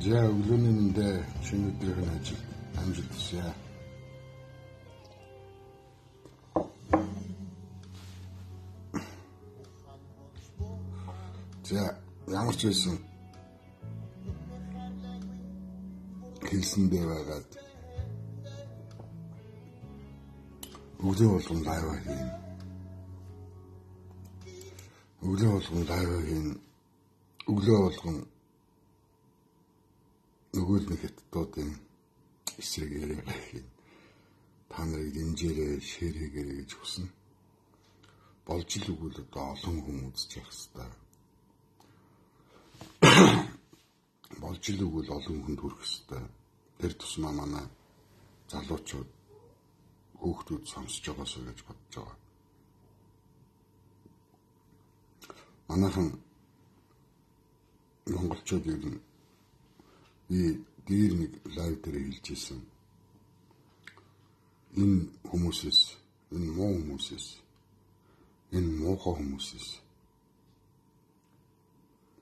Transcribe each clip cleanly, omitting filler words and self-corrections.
За өглөөний мэндэ шинэ өдрийн ажил амжилт хүсье. За ямар ч байсан хэлсэндээ байгаад өглөө болгон лайв хийн. Өглөө болгон нөгөө нэг хэттуудын эсрэг яриа хийн. Та нарыг дэмжээрэй, шеэрэгээрэй гэж хүснэ. Болж л үгүй одоо олон хүн үзэж явах хэрэгтэй. Болж л үгүй олон хүнд хүрэх хэрэгтэй. Тэр тусмаа манай залуучууд хүүхдүүд сонсож байгаасаа гэж бодож байгаа. Манайхан монголчууд ер нь дээр нэг лайв дээр хэлж ирсэн. Энэ хүмүүсээс, энэ муу хүмүүсээс, энэ муухай хүмүүсээс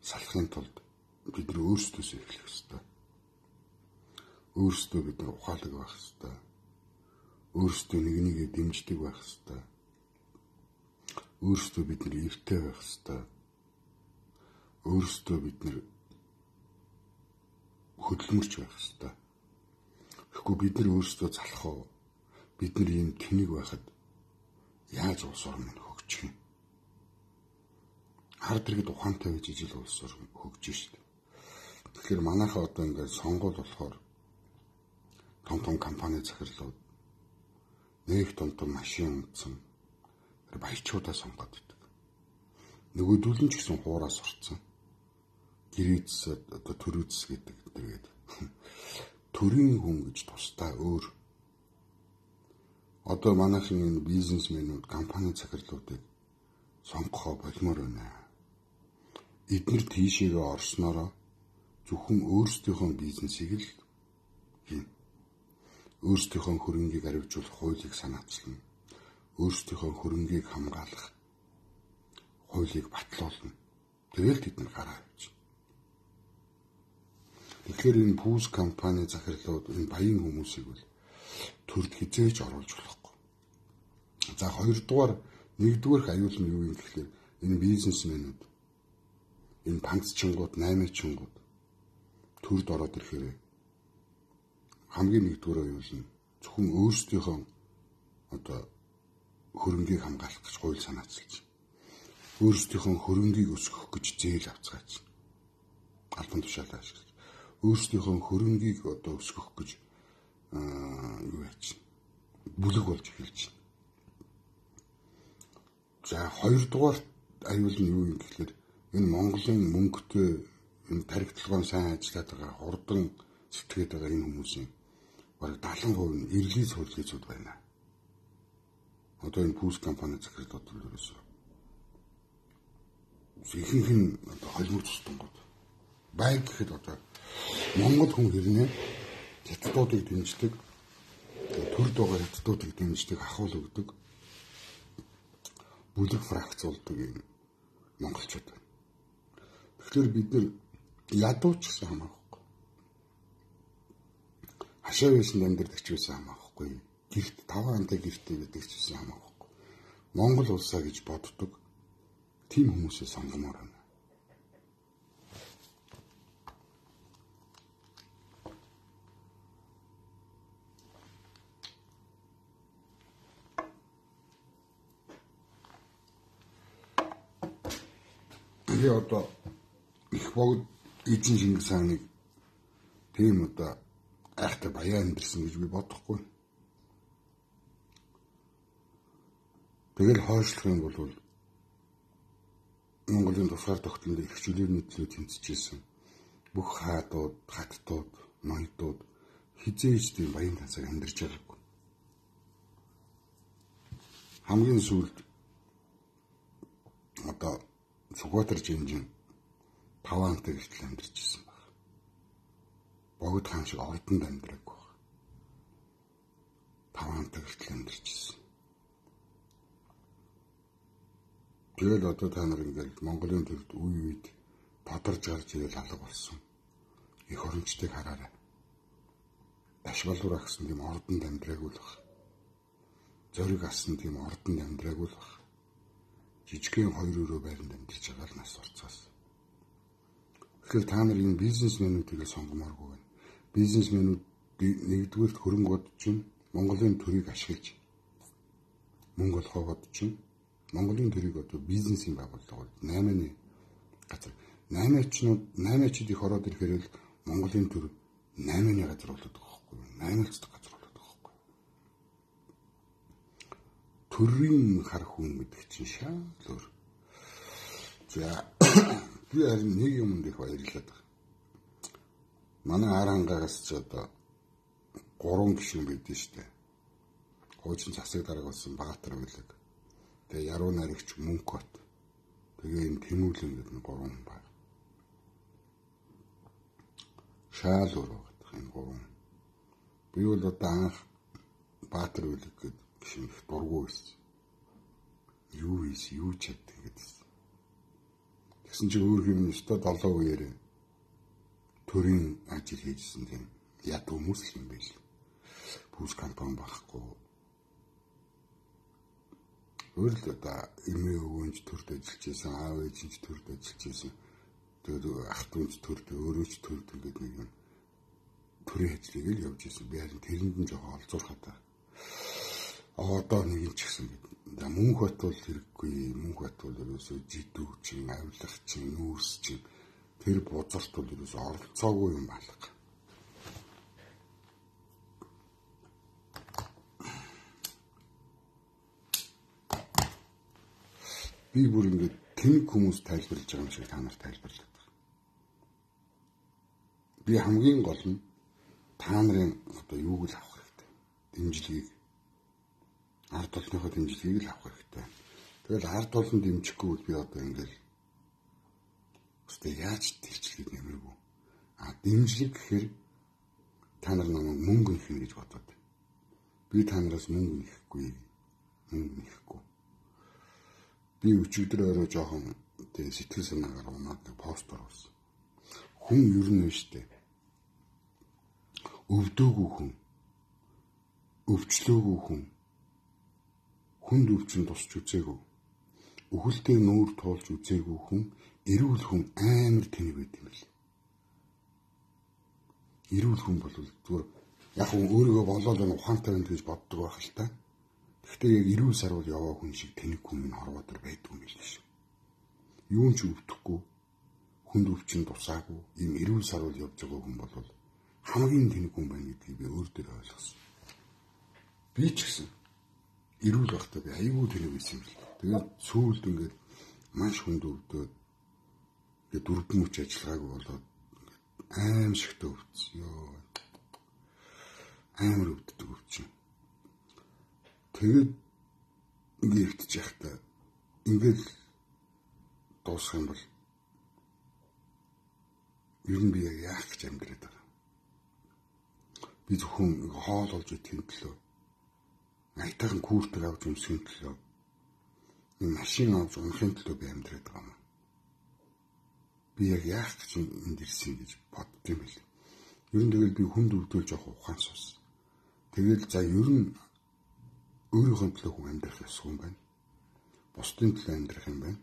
салахын тулд бид нар өөрсдөөс эхлэх хэрэгтэй. Өөрсдөө бид нар ухаалаг байх хэрэгтэй. Өөрсдөө нэг нэгээ дэмждэг байх хэрэгтэй. Өөрсдөө бид нар эрттэй байх хэрэгтэй. Өөрсдөө бид нар хөдөлмөрч байх хэрэгтэй. Тэгэхгүй бид нар өөрсдөө залах уу? Бид нар ийм тэнэг байхад яаж улс орн нь хөгжих юм? Хард иргэд ухаантай байж ижил улс орн хөгжиж шүү дээ. Тэгэхээр манайхаа одоо ингээд сонгуул болохоор том компани захирлууд нэг том машин унтсан баячуудаа сонгоод байдаг. Нөгөөдөл нь ч гэсэн хуураас орцсон. Гэрээдс одоо төрөөдс гэдэг тэгээд төрийн хүн гэж тусдаа өөр. Одоо манайхын энэ бизнесмэнүүд компани захирлуудыг сонгохоо болмоор байна. Эдгээр тийшээгээ орсноороо зөвхөн өөрсдийнхөө бизнесийг л хийн. Өөрсдийнхөө хөрөнгийг аривжуулах хуулийг санаачилна. Өөрсдийнхөө хөрөнгийг хамгаалах хуулийг батлуулна. Тэгэл тэд нар гараа авчих. Тэгэхээр энэ пүүс компани захирлууд энэ баян хүмүүсийг бол төрд хизээж оруулж болохгүй. За нэгдүгээр аюул нь юу юм гэхээр энэ бизнесмэнүүд энэ панцчингууд, наймаачингууд төрд ороод ирэхээр хамгийн нэгдүгээр аюул нь зөвхөн өөрсдийнхөө одоо хөрөнгийг хамгаалах гэж хууль санаачилж өөрсдийнхөө хөрөнгийг өсгөх гэж зээл авцгаач. Албан тушаалаа ашиглаж өөрсдийнхөө хөрөнгийг одоо өсгөх гэж юу яач бүлэг болж эхэлж байна. За хоёрдугаар аюул нь юу юм гэхээр энэ Монголын мөнгөтэй энэ тархитлагын сайн ажиллаад байгаа хурдан сэтгэхэд байгаа энэ хүмүүсийн бараг 70% нь эргэлий цорилгоцуд байна. Одоо энэ пүүс компани захирлууд ерөөсөө ихэнх нь одоо холимог тустангууд байг гэхэд одоо Монгол хүн хэрнээ хятадуудыг дэмждэг, төрд байгаа хятадуудыг дэмждэг, ахуул өгдөг, бүлэг фракцуулдаг юм монголчууд байна. Тэгэхээр бид нар ядууч гэсэн хамаахгүй. Хашаа байсан амьдардаг ч байсан хамаахгүй. Гэрт таван антай гэртээ байдаг ч байсан хамаахгүй. Монгол улсаа гэж боддог тийм хүмүүсээ сонгомоор байна. Би одоо их богд эзэн Чингис хааныг тийм одоо айхтай баян амьдэрсэн гэж би бодохгүй. Тэгэл хойшлох юм бол Монголын тусгаар тогтнолд их чөлөөний төлөө тэмцэжсэн бүх хаадууд, хаттууд, ноёдууд хизээж тийм баян тансаг амьдарч байгаагүй. Хамгийн сүүлд одоо Сүхбаатар жинжин 5 антай гэртэл амьдарч ирсэн баг. Богд хаан шиг ордонд амьдраагүй баг. 5 антай гэртэл амьдарч ирсэн. Тэгэл одоо та нар ингээд Монголын төрд үе үед тодорж гарч ирэл алга болсон. Их орончдыг хараарай. Дашвалуур агсан тийм ордонд амьдраагүй л баг. Зориг асан тийм ордонд амьдраагүй л баг. Жижигхэн 2 өрөө байранд амьдарч байгаа л нас урцаас. Тэгэхээр та нар энэ бизнесмэнүүдийг сонгомооргүй байна. Бизнесмэнүүд нэгдүгээрт хөрөнгө бодож чинь Монголын төрийг ашиглаж мөнгө олохоо бодож чинь Монголын төрийг одоо бизнесийн байгууллага 8-ны газар 8-ачид их ороод ирэхээр л Монголын төр 8-ны газар болоод байгаа байхгүй юу? 8-ц газар болоод байгаа байхгүй юу? Төрийн хар хүн гэдэг чинь шал өөр. За би харин нэг юмд их баярлаад байна. Манай Арангаагаас ч одоо 3 гишүүн байдсан шүү дээ. Хуучин засаг дарга болсон Баатар байлаг. Тэгээ яруу найрагч Мөнхбат. Тэгээ энэ Тэмүүлэн гэдэг 3 хүн байна. Шаал өөр байгаа энэ 3. Би бол одоо анх Баатар байлаг гэдэг гишүүн их дургу байсан. Юу хийс, юу чаддаг гэдсэн. Тэгсэн чинь өөр юм өстой 7 үеэр төрийн ажил хийжсэн тийм яд хүмүүс юм байл. Пүүс компани байхгүй. Өөр л одоо эмээ өвөнч төрд ажиллаж байсан, аав ээжинч төрд ажиллаж байсан. Тэр ах дүүнч төрд, өөрөө ч төрд гэдэг нэг юм төрийн ажлыг л явж байсан. Би харин тэрэнд нь жоохон олзуурхаад байна. Одоо нэг юм ч гэсэн гэдэг. Мөнхбат бол хэрэггүй. Мөнхбат бол ерөөсөө жидүү чин, авилах чин, нүүрс чин тэр бузарт бол ерөөсөө оролцоогүй юм балга. Би бүр ингээд тэнэг хүмүүс тайлбарлаж байгаа юм шиг та нарт тайлбарлаад байна. Би хамгийн гол нь та нарын одоо юуг л авах хэрэгтэй. Дэмжлэгийг ард олонныхоо дэмжлэгийг л авах хэрэгтэй. Тэгэл ард олон дэмжихгүй бол би одоо ингээл өстэй яаж дэмжлэгийг нэмэргүй. Дэмжлэг гэхээр та нар намайг мөнгө нөхнө гэж бодоод. Би та нараас мөнгө нэхгүй. Би өчигдөр орой жоохон тэг сэтгэл санаагаар унаад пост оруулсан. Хүн ер нь штэ. Өвдөөгүй хүн. Өвчлөөгүй хүн. Хүнд өвчин тусч үзээгүй. Үхэлтэй нүүр туулж үзээгүй хүн, эрүүл хүн амар тэнэг байт юм л. Эрүүл хүн бол зүгээр яг өөрийгөө болоод энэ ухаантай байна гэж боддог байх л та. Гэхдээ яг эрүүл сарвал яваа хүн шиг тэнэг хүн нь хорвоодөр байдгүй юм биш үү? Юун ч өвдөхгүй, хүнд өвчин тусаагүй, ийм эрүүл сарвал явж байгаа хүн бол хамгийн тэнэг хүн байна гэдгийг би өөр дөр ойлгосон. Би ч гэсэн эрүүл байхдаа би аюул тэнэг байсан юм л. Тэгээд сүүлд ингээд маш хүнд өвдөд ингээд дөрвөн мөч ажиллагаагүй болоод аимшигтэй өвдсөн ёо. Амар өвддөг өвчин. Тэгээд ингээд өвдөж яхтаа ингээд дуусах юм бол ер нь би яг яах гэж амьдраад байгаа. Би зөвхөн хоол олж идэхин төлөө айтайхан куртэг авч өмсөхийн төлөө машин авч унахын төлөө би амьдраад байгаа юм. Би яг яах гэж энд ирсэн гэж бодд юм бэл. Ер нь тэгэл би хүнд өвдөлж явах ухаан сус. Тэгэл за ер нь өөрийнхөө төлөө хүн амьдрах ёсгүй юм байна. Бусдын төлөө амьдрах юм байна.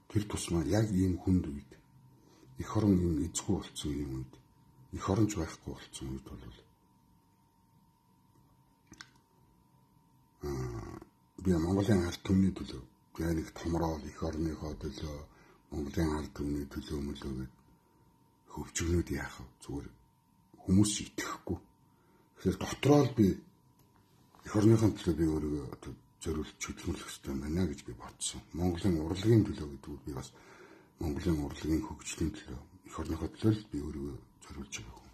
Тэр тусмаа яг ийм хүнд үед эх орон ийм эзгүй болсон юм үед эх оронч байхгүй болсон үед бол би Монголын ард түмний төлөө яг нэг томроод эх орныхоо төлөө Монголын ард түмний төлөө мөлөөгээд хөвчгнүүд яах вэ? Зүгээр хүмүүс итгэхгүй. Тэгэхээр дотроо л би эх орныхон төлөө би өөрийгөө зориулж хөдөлмөрлөх хэрэгтэй байна гэж би бодсон. Монголын урлагийн төлөө гэдэг би бас Монголын урлагийн хөгжлийн төлөө эх орныхоо төлөө л би өөрийгөө зориулж байгаа хүн.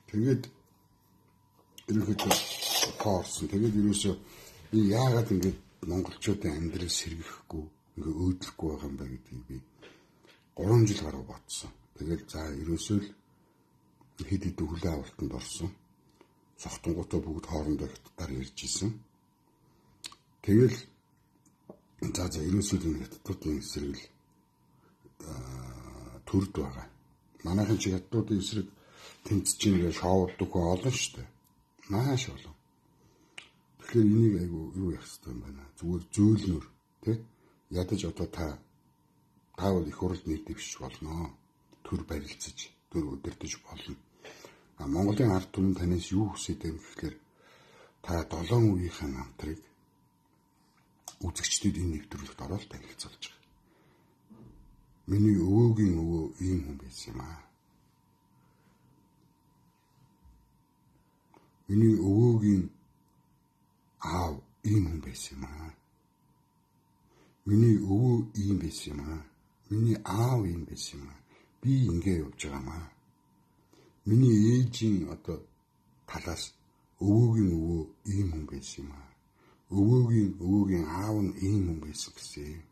Тэгээд ерөнхийдөө хоорсон. Тэгээд ерөөсөө би яагаад ингэж монголчуудын амьдрал сэргэхгүй, ингээ өөдлөхгүй байгаа юм бэ гэдгийг би 3 жил гаруй бодсон. Тэгээд за ерөөсөө л хэд хэдэн хүлээн авалтанд орсон. Цогтонгуудаа бүгд хоорондоо хятадаар ярьж исэн. Тэгэл за ерөөсөө энэ хятадуудын эсрэг төрд байгаа. Манайхын чи хятадуудын эсрэг тэмцэж байгаа шоуддаг хүн олон шүү дээ. Маш олон. Тэгэхээр энийг айгу юу яах хэрэгтэй юм байна. Зүгээр зөөлнөр тий ядаж одоо та бол их уралд нэр дэвшиж болно. Төр барилцаж, төр удирдах болно. Монголын ард түмэн танаас юу хүсэж байгаа юм гэхээр та 7 үеийнхээ намтрыг үзэгчдэд энэ нэвтрүүлэгт ороод танилцуулж байгаа. Миний өвөөгийн өвөө ийм хүн байсан юм аа. Миний өвөөгийн аав ийм хүн байсан юм аа. Миний өвөө ийм байсан юм аа. Миний аав ийм байсан юм аа. Би ингэ явж байгаа юм аа. Миний ээжийн одоо талаас өвөөгийн өвөө ийм хүн байсан юм аа. Өвөөгийн аав нь ийм хүн байсан гэсэн.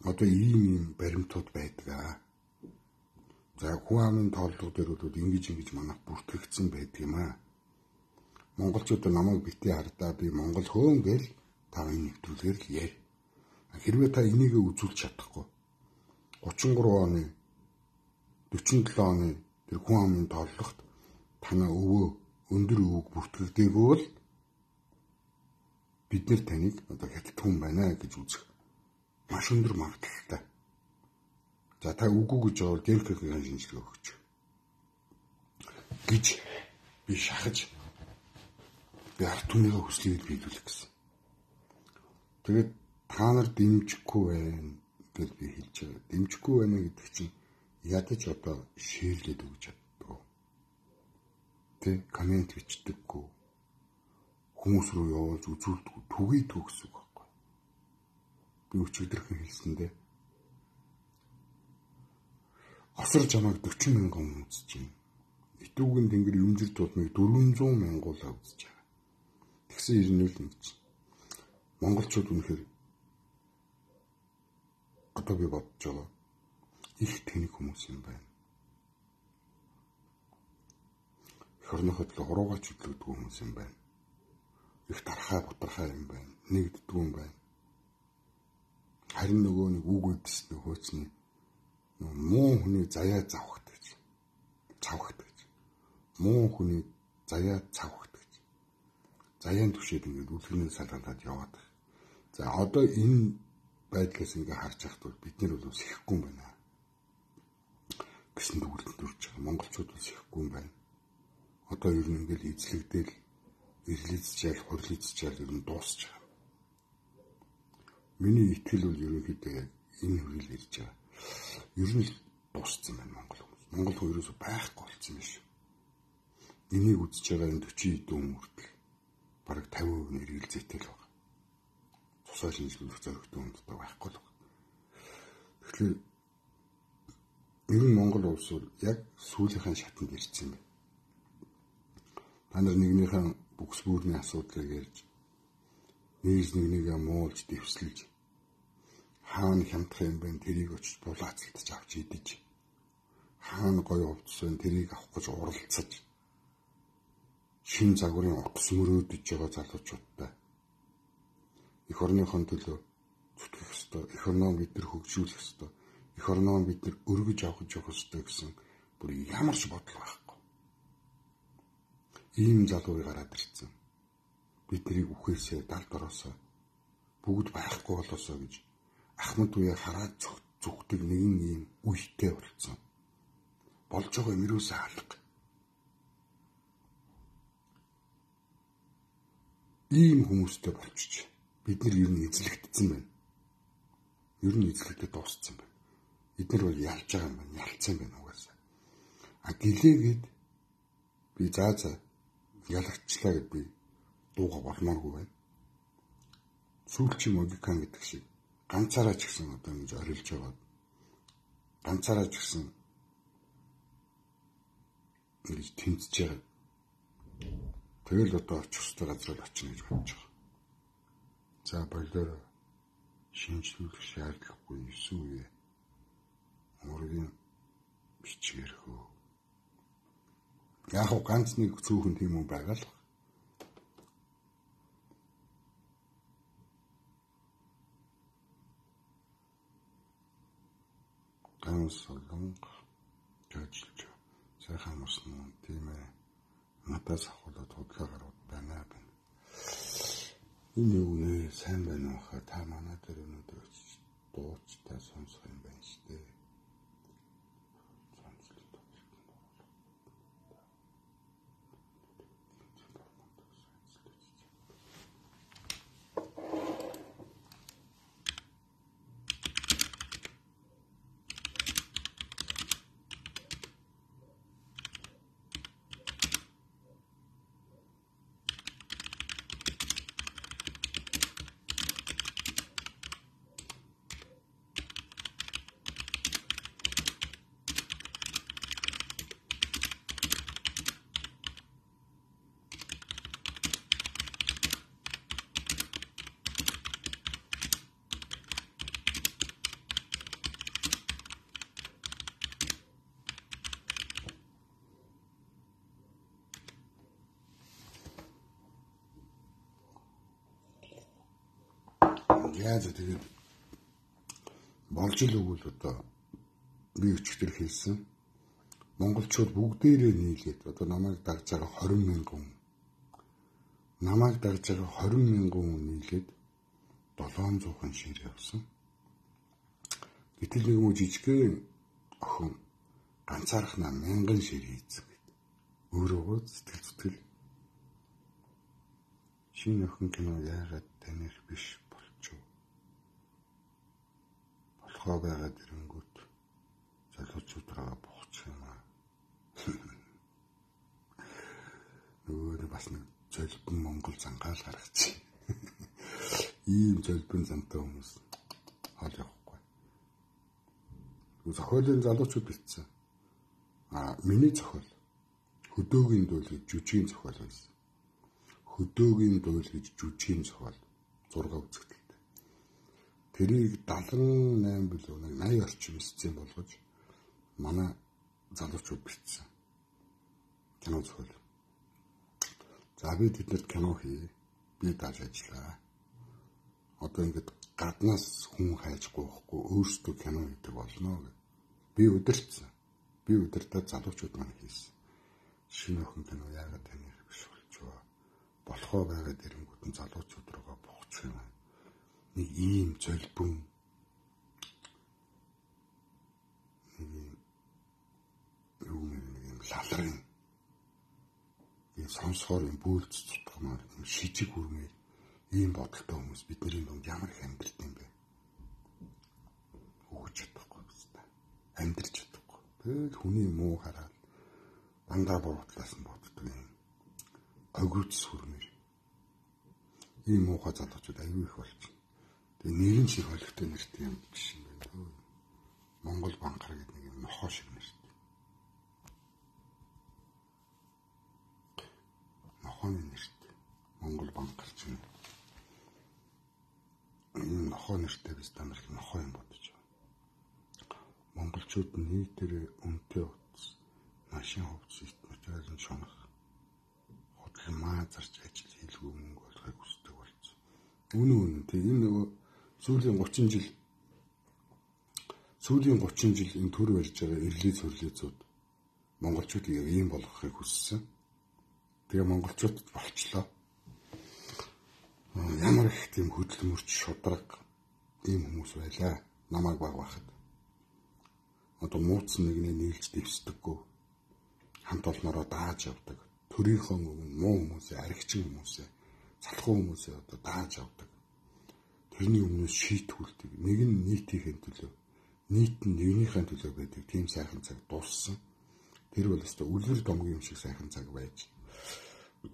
Одоо ийм баримтууд байдаг. За хүн амын тооллого дээр бол ингэж манайх бүртгэгдсэн байдаг юм аа. Монголчууд намайг битгий хардаа би Монгол хөөн гэл та энэ нэвтрүүлгээр л яар. Хэрвээ та энийг үзүүлж чадахгүй 33 оны 47 оны тэр хүн амын тооллогот танаа өвөө өндөр өвөг бүртгэгдээгүй бол бид нэр таныг одоо хятад хүн байна гэж үзэх маш өндөр магадaltaй. За та үгүй гэж бол ДНК-ийн шинжилгээ өгч гэж би шахаж би ард түмний хүслийг биелүүлэх гэсэн. Тэгээд та нар дэмжихгүй байна гэж би хэлж байгаа. Дэмжихгүй байна гэдэг чинь ядаж одоо шеэрлээд өгч чаддаг. Тэ комент бичдэггүй. Хүмүүс рүү явуулж үзүүлдэг түгий төгс үг байхгүй. Би өчигдөрхөн хэлсэндээ осор жамааг 40 мянган үзэж байна. Итүүгийн тэнгэр юмжир тулмыг 400 мянгуулаа үзэж байгаа. Тэгсэн ирнүүл нэг чинь монголчууд үнэхээр одоо би бодож байгаа их тэнэг хүмүүс юм байна. Эх орныхоо төлөө хуруугач хөдлөгдөг хүмүүс юм байна. Их тархаа юм байна. Нэгддэг юм байна. Харин нөгөө нэг үг үдс нөхөөцний муу хүний заяа завхдаг. Муу хүний заяа завхдаг. Заяан түшээд ингээд үлгэрний салгаалаад яваад. За одоо энэ байдлаас ингээ харж байхад бид нар бол сэхэхгүй юм байна. Гэсэн дүгнэлт төрж байгаа. Монголчууд бол сэхэхгүй юм байна. Одоо ер нь ингээл эзлэгдээл, ирлээцчээл, хурлицчээл ер нь дуусч байгаа. Миний итгэл бол ерөнхийдөө энэ хүрэл ирж байгаа. Ер нь дууссан байна Монгол хүмүүс. Монгол хүмүүс байхгүй болсон юм шүү. энийг үзэж байгаа энэ 40 хэдэн хүртэл бараг 50% нь эргэлзээтэй л байна. Тусгай шинжилүүлэх зорилготой хүндтэй байхгүй л байна. Тэгэхээр ер нь Монгол улс бол яг сүүлийнхээ шатанд ирсэн юм байна. Та нар нэгнийхэн бүкс бүрний асуудлыг ярьж нэгнийгээ муулж дэвслэж хаана хямдах юм бэ тэрийг очиж булаацалтаж авч идэж хаана гоё хувцсан тэрийг авах гэж уралцаж шин загварын утас мөрөөдөж байгаа залуучуудтай эх орныхон төлөө зүтгэх ёстой, эх орноо бид нар хөгжүүлэх ёстой, эх орноо бид нар өргөж авах ёстой гэсэн бүр ямар ч бодол байхгүй. Ийм залууи гараад ирсэн. Биднийг үхээсээ далд ороосоо бүгд байхгүй болоосоо гэж Ахмад үе хараад зүгтэг нэгэн ийм үетэй болсон. Болж байгаа юм юусаа алга. Ийм хүмүүстэй болчих. Бид нар ер нь эзлэгдсэн байна. Ер нь эзлэгдэж дууссан байна. Бид нар бол ялж байгаа юм байна. Ялцсан байна угаасаа. Гэлээгээд би заа ялагчлаа гэд би дууга болмооргүй байна. Сүүлчийн логикан гэдэг шиг ганцаараа ч гэсэн одоо ингэж орилж байгаа. Ганцаараа ч гэсэн ингэж тэмцэж байгаа. Тэгэл одоо очих ёстой газар очно гэж бодож байгаа. За болоор шинжлүүлэх шаардлагагүй 9 үе өөрийн бичгээр хөө. Яг ганц нэг цөөхөн тийм юм байгаа л. Ганц солонго жаажилж сайхан мөрсөн тийм ээ. Надаас авахлаад худлаа гарууд байна. Энэ юу нэ сайн байна уу хаа та манай дээр өнөөдөр дууч та сонсох юм байна шүү дээ. Яаж тэгээд болж л өгвөл одоо би өчигдөр хэлсэн монголчууд бүгдээрээ нийлээд одоо намайг дагж байгаа 20,000 хүн намайг дагж байгаа 20,000 хүн нийлээд 700 шир явсан. Гэтэл нэг муу жижигхэн охин ганцаархнаа 1000 шир хийцэн гэд. Өөрөө сэтгэл шинэ охин кино яагаад таних биш болохоо байгаад ирэнгүүт залуучуудраа бохчих юм аа. Нөгөө бас нэг золбон Монгол зангаал гаргачих. Ийм золбон зантай хүмүүс хол явахгүй. Зохиолын залуучууд битсэн. Миний зохиол хөдөөгийн дуул гэж жүжигийн зохиол байсан. Хөдөөгийн дуул гэж жүжигийн зохиол 6 үзэгдэлтэй. Тэрийг 78 билүү 80 орчим сцен болгож манай залуучууд бичсэн. Кино зохиол. За би тэднэрт кино хий. Би дааж ажиллаа. Одоо ингэж гаднаас хүн хайж гоохгүй өөрсдөө кино хийдэг болно гэж. Би удирдсан. Би удирдаад залуучууд маань хийсэн. Шинэ охин кино яагаад таних биш болчихоо. Болохоо байгаад ирэнгүүт нь залуучууд руугаа бохчих юм. Нэг ийм золбон нэг лалрын ийм сонсохоор юм бөөлж цутгамаар юм шижиг үрмээр ийм бодолтой хүмүүс бидний дунд ямар их амьдрт юм бэ? Өгч чадахгүй байна. Амьдрч чадахгүй. Тэгэл хүний муу хараад дандаа буудлаас нь боддог юм. огүйц сүрмээр. Ийм муухай залуучууд аюу их болж байна. Тэгээ нэрэн шиг холигтой нэртэй юм биш юм байна. Монгол банкар гэдэг нэг юм нохоо шиг нэртэй. Нохооны нэртэй. Монгол банкар чинь энэ нохоо нэртэй biz та нар их нохоо юм бодож байна. Монголчууд нийтээр үнэтэй утас машин хувцас материалын шунах хөдөл маа зарч ажил хийлгүй мөнгө олохыг хүсдэг болсон. Үнэн тийм энэ нөгөө сүүлийн 30 жил энэ төр барьж байгаа эрлээ цөрлөөцүүд монголчуудыг яг ийм болгохыг хүссэн. Тэгээ монголчуудад болчлоо. Ямар их тийм хөдөлмөрч шудраг ийм хүмүүс байлаа. Намайг баг байхад. Одоо мууцсан нэгнээ нийлж дэвсдэггүй. Хамт олноороо дааж явдаг. Төрийнхөө муу хүмүүсээ, аригчин хүмүүсээ, залхуу хүмүүсээ одоо дааж явдаг. Тэрний өмнөөс шийтгүүлдэг. Нэг нь нийтийн төлөө, нийт нь нэгнийхээ төлөө байдаг тийм сайхан цаг дууссан. Тэр бол өстой үлгэр домгийн юм шиг сайхан цаг байж.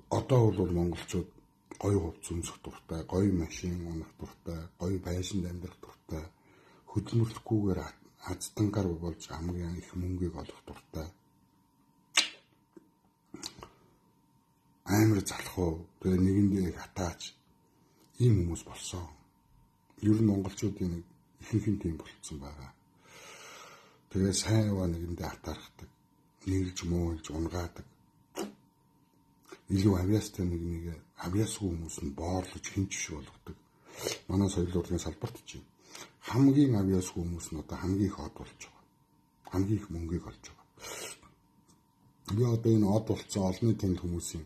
Одоо бол монголчууд гоё хувцас өмсөх дуртай, гоё машин унах дуртай, гоё байшинд амьдрах дуртай, хөдөлмөрлөхгүйгээр аздангаар болж хамгийн их мөнгийг олох дуртай. Амар залхуу, тэгээ нэгэндээ хатаач ийм хүмүүс болсон. Ер нь монголчуудын нэг ихэнх тийм болцсон байгаа. Тэгээ сайн яваа нэгэндээ хатаархдаг, нийлж муулж унгаадаг. Илүү авьяастай нэг авьяасгүй хүмүүс нь боорлож хинч болгодог. Манай соёл урлагийн салбарт чинь хамгийн авьяасгүй хүмүүс нь одоо хамгийн их од болж байгаа. Хамгийн их мөнгийг олж байгаа. Би одоо энэ од болцсон олонний тэнд хүмүүсийн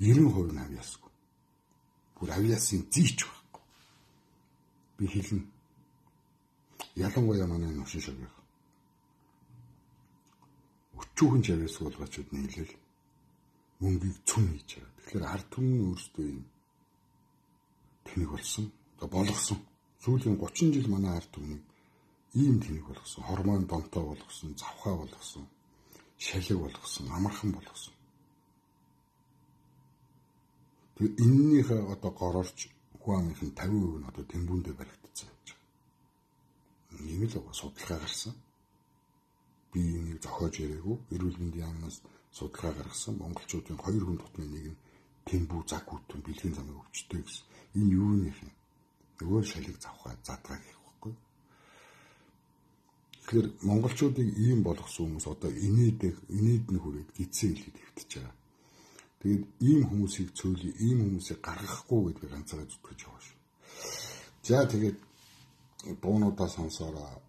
90% нь авьяасгүй. Бүр авьяасын зийч байхгүй. Би хэлнэ. Ялангуяа манай нушин шавьяа. Өчүүхэн авьяасгүй болгоочуд нийлээл мөнгийг цүн хийж байгаа. Тэгэхээр ард түмэн өөрсдөө юм тэнэг болсон. Одоо болгосон. Сүүлийн 30 жил манай ард түмэн ийм тэнэг болгосон. Хормон донтой болгосон, завхаа болгосон, шалиг болгосон, амархан болгосон. Тэгээ эннийхээ одоо горорч Хуаных нь 50% нь одоо Тэмбүүндээ баригдсан явж байгаа. Нэг л судалгаа гарсан. Би энийг зохиож яриаггүй. Эрүүл мэндийн яамнаас судалгаа гаргасан. Монголчуудын 2 хүн дотны нэг нь Тэмбүү заг хүтэн бэлгийн замыг өвчтэй гэсэн. Энэ юу нэх юм? Нөгөө шалиг завхаа задгаа гэх байхгүй. Тэгэхээр монголчуудыг ийм болгосон хүмүүс одоо инээд нь хүрээд гидсэн хэлээд хэвтэж байгаа. Тэгээд ийм хүмүүсийг цөөлөе, ийм хүмүүсийг гаргахгүй гэдгийг ганцаараа зүтгэж яваа шүү. За тэгээд дуунуудаа сонсоороо.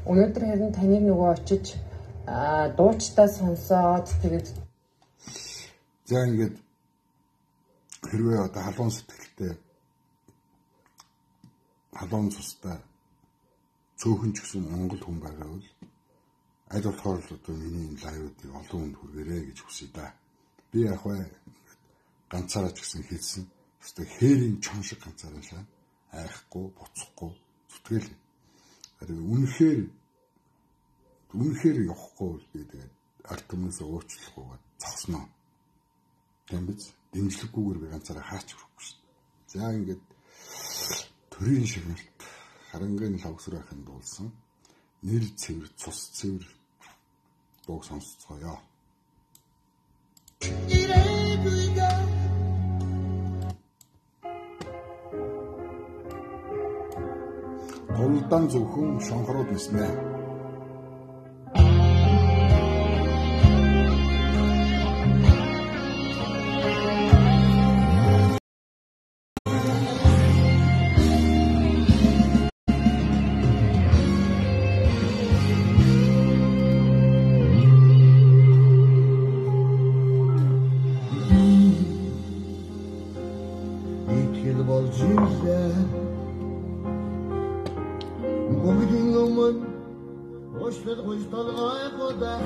Өнөөдөр харин таныг нөгөө очиж дуучтаа сонсоод тэгээд за ингээд хэрвээ одоо халуун сэтгэлтэй халуун цустай цөөхөн ч гэсэн монгол хүн байгаа бол аль болохоор л одоо миний лайвуудыг олон хүнд хүргээрэй гэж хүсэе да. Би яг ганцаараа ч гэсэн хэлсэн. Өөртөө хээрийн чон шиг ганцаараа шаа. Айхгүй, буцахгүй зүтгэл. Тэгэхээр үнэхээр явахгүй бол би тэгээд ард түмнээс уучлахгүй зогсноо. Тийм биз? Дэмжлэггүйгээр би ганцаараа хаач өрөхгүй шүү дээ. За ингээд төрийн шигнэлт харангийн лавсрын ахын дуулсан нэр цэвэр цус цэвэр дуу сонсцгоё. Голдан зөвхөн шонхорууд нэснэ. Hoş ver hoş dalgaya kodak